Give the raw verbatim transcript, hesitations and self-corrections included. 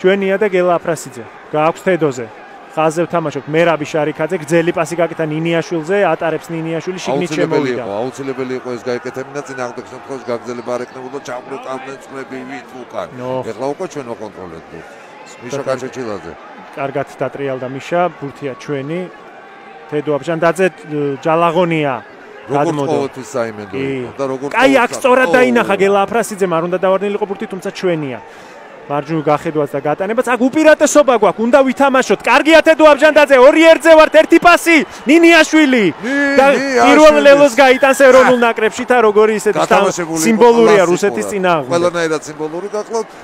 ჩვენია და გელა აფრასიძე. გააქვს თედოზე. ხაზზე ვთამაშობთ მერაბი შარიქაძე, გრძელი პასი გაკეთა ნინიაშვილზე, ატარებს ნინიაშვილი შიგნით შემოვიდა. აუცილებელი იყო ეს გაეკეთებინა წინააღმდეგ შემთხვევაში გაგრძელება არ ექნებოდა ჩამოყავდნენ წლები ვით უკან. ეხლა უკვე ჩვენ ვაკონტროლეთ ბურთს. მიშა კაჩეჩილაძე. კარგად დატრიალდა მიშა, ბურთია ჩვენი. თედო აბჟანდაძე ჯალაღონია. როგორც ყოველთვის საიმედო და როგორც კაი აქ სწორად დაინახა გელა აფრასიძემ არ უნდა დავარდნილიყო ბურთი, თუმცა ჩვენია. მარჯვნივ გახედვაც და გატანებაც აქ უპირატესობა გვაქვს, უნდა ვითამაშოთ. კარგია თედო აბჟანდაძე, ორი ერთზე ვართ, ერთი პასი, ნინიაშვილი. და პირველ ლელოს გაიტანს ეროვნულ ნაკრებში და როგორი ისეთი სიმბოლურია რუსეთის წინააღმდეგ. ყველანაირად სიმბოლური გახლავთ.